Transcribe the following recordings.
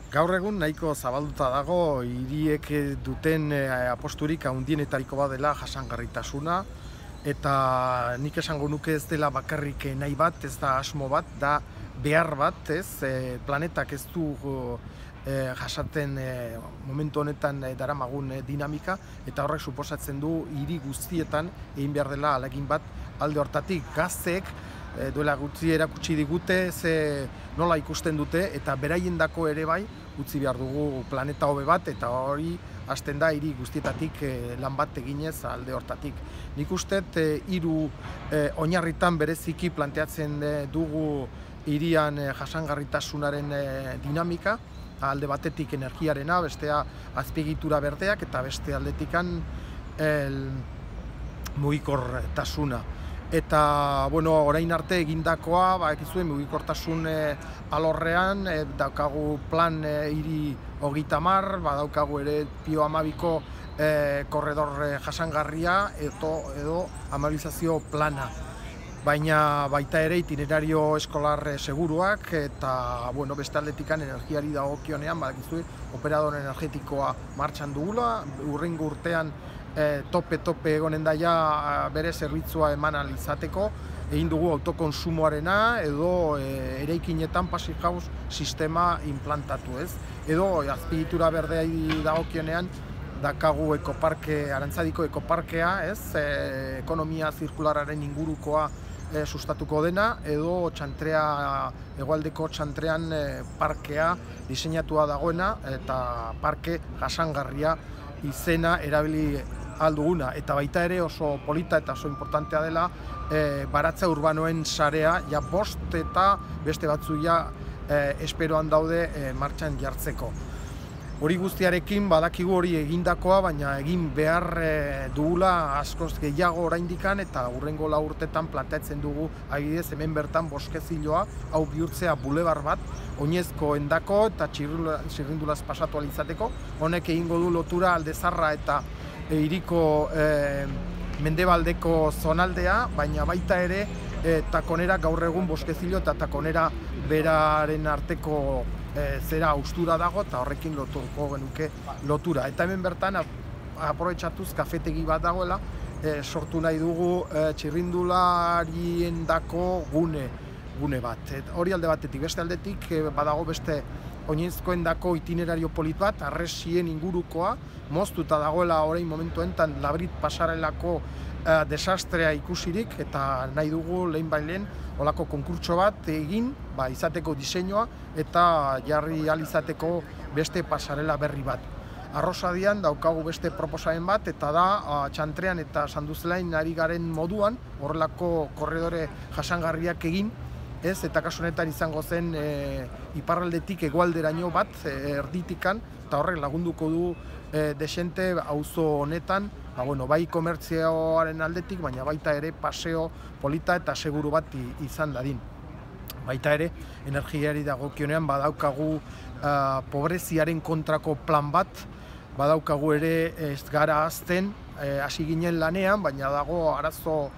Gaur egun nahiko zabalduta dago hiriek duten aposturik handienetariko bat dela jasangarritasuna, eta nik esango nuke ez dela bakarrik nahi bat, ez da asmo bat, da behar bat, ez? Planetak ez du jasaten momentu honetan daramagun dinamika, eta horrek suposatzen du hiri guztietan egin behar dela ahalegin bat alde hortatik. Gazteek duela gutxi erakutsi digute nola ikusten dute, eta beraiendako ere bai utzi behar dugu planeta hobe bat, eta hori hasten da hiri guztietatik lan bat eginez alde hortatik. Nik usteet hiru oinarritan bereziki planteatzen dugu hirian jasangarritasunaren dinamika, alde batetik energiarena, bestea azpiegitura berdeak, eta beste aldetikan mugikortasuna. Eta, orain arte egindakoa, ekizue, mugikortasun alorrean, daukagu plan hiri 30, badaukagu ere Pio 12ko korredor jasangarria edo amabilizazio plana. Baina baita ere itinerario eskolar seguruak, eta beste aldetikan energiari dagokionean, badakizue, operador energetikoa martxan dugula, hurrengo urtean tope egonen daia bere zerbitzua eman ahal izateko, egin dugu autokonsumoarena edo eraikinetan passive house sistema implantatu, ez? Edo azpiegitura berdeari dagokionean dakagu Arantzadiko ekoparkea, ez? Ekonomia zirkularraren ingurukoa sustatuko dena, edo hegoaldeko Txantrean parkea diseinatua dagoena, eta parke jasangarria izena erabili alduguna. Eta baita ere oso polita eta oso importantea dela baratza urbanoen sarea, ja 5 eta beste batzu esperoan daude martxan jartzeko. Hori guztiarekin badakigu hori egindakoa, baina egin behar dugula askoz gehiago oraindikan, eta hurrengo 4 urtetan planteatzen dugu adibidez hemen bertan Boskeziloa hau bihurtzea bulebar bat, oinezko endako eta txirrindulaz pasatu ahal izateko. Honek egingo du lotura Aldezarra eta hiriko mendebaldeko zonaldea, baina baita ere Takonera gaur egun Boskezilo eta Takonera beraren arteko zera austura dago, eta horrekin lotuko genuke lotura. Eta hemen bertan aprobetxatuz kafetegi bat dagoela, sortu nahi dugu txirrindulariendako gune bat. Hori alde batetik, beste aldetik badago beste oinezkoendako itinerario polit bat, Harresien ingurukoa, moztuta dagoela orain momentu enten Labrit pasarelako desastrea ikusirik, eta nahi dugu lehenbailen olako konkurtso bat egin, izateko diseinua, eta jarri ahal izateko beste pasarela berri bat. Arrosadian daukagu beste proposamen bat, eta da Txantrean eta Sanduzelain ari garen moduan, horrelako korredore jasangarriak egin, ez, eta kasu honetan izango zen iparraldetik hegoalderaino bat, erditikan, eta horrek lagunduko du desente auzo honetan, bai komertzioaren aldetik, baina baita ere paseo polita eta seguru bat izan dadin. Baita ere, energiari dagokionean badaukagu pobreziaren kontrako plan bat, badaukagu ere ez gara azten, hasi ginen lanean, baina dago arazo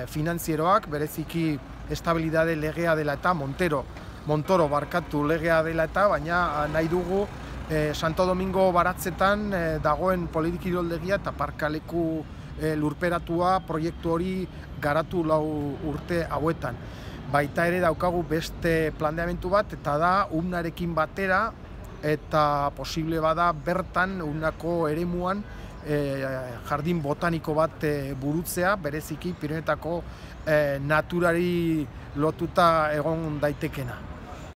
finanzieroak, bereziki estabilidade legea dela eta Montoro barkatu legea dela eta, baina nahi dugu Santo Domingo baratzetan dagoen politikiroldegia eta parkaleku lurperatua proiektu hori garatu 4 urte hauetan. Baita ere daukagu beste planteamendu bat, eta da UNArekin batera, eta posible bada bertan UNako eremuan jardin botaniko bat burutzea, bereziki Pirinioetako naturari lotuta egon daitekena.